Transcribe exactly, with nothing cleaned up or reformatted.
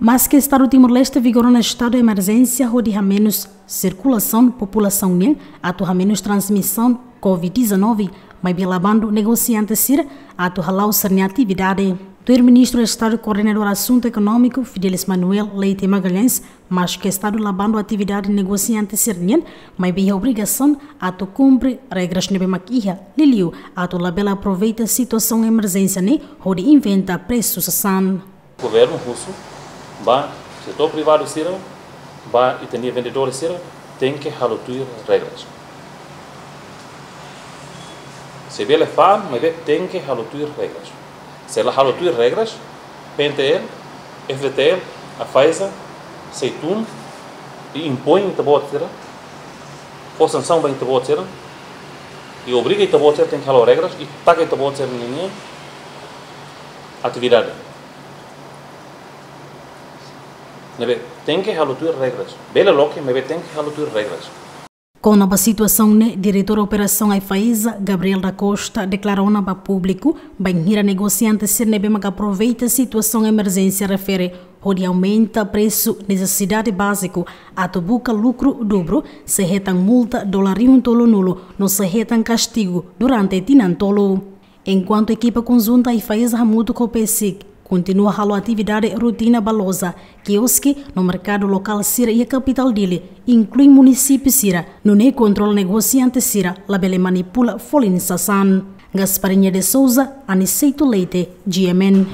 Maske Estadu Timor-Leste vigora ona estadu emerjénsia hodi hamenus sirkulasaun populasaun nian atu hamenus transmisaun COVID dezanove, maibé la bandu negosiante sira atu hala'o sira-nia atividade. Tuir Ministru Estadu Koordenadór Asuntu Ekonómiku, Fidelis Manuel Leite Magalhães, maske Estadu la bandu atividade negosiante sira-nian, maibé iha obrigasaun atu kumpre regras ne'ebé mak iha, liuliu atu labele aproveita situasaun emerjénsia ne'e hodi inventa presu sasán. Governu husu ba setór privadu sira, ba ita-nia vendedór sira, tenke halo tuir regras. Se bele fa'an, maibé tenke halo tuir regras. Se la halo tuir regras, PNTL, FDTL, AIFAESA sei tun i impoin ita-boot sira, fó sansaun ba ita-boot sira, i obriga ita-boot sira tenke halo regras, i taka ita-boot sira-nia atividade. Ne'ebé tenke halo tuir regras. Bele loke, maibé tenke halo tuir regras. Kona-ba situasaun ne'e, Diretór Operasaun AIFAESA, Gabriel da Costa, deklara ona ba públiku, bainhira negosiante sira ne'ebé mak aproveita situasaun emerjénsia refere hodi aumenta presu nesesidade báziku atu buka lukru dubru, sei hetan multa dolar rihun tolunulu no sei hetan kastigu durante tinan tolu. Enkuantu ekipa konjunta AIFAESA hamutuk ho PAESIC kontinua halo atividade rotina ba loja, kioske no merkadu lokál sira iha kapitál Dili, inklui munisípiu sira, nune'e kontrola negosiante sira labele manipula folin sasán. Gasparinha de Souza, Aniceto Leite, GMN.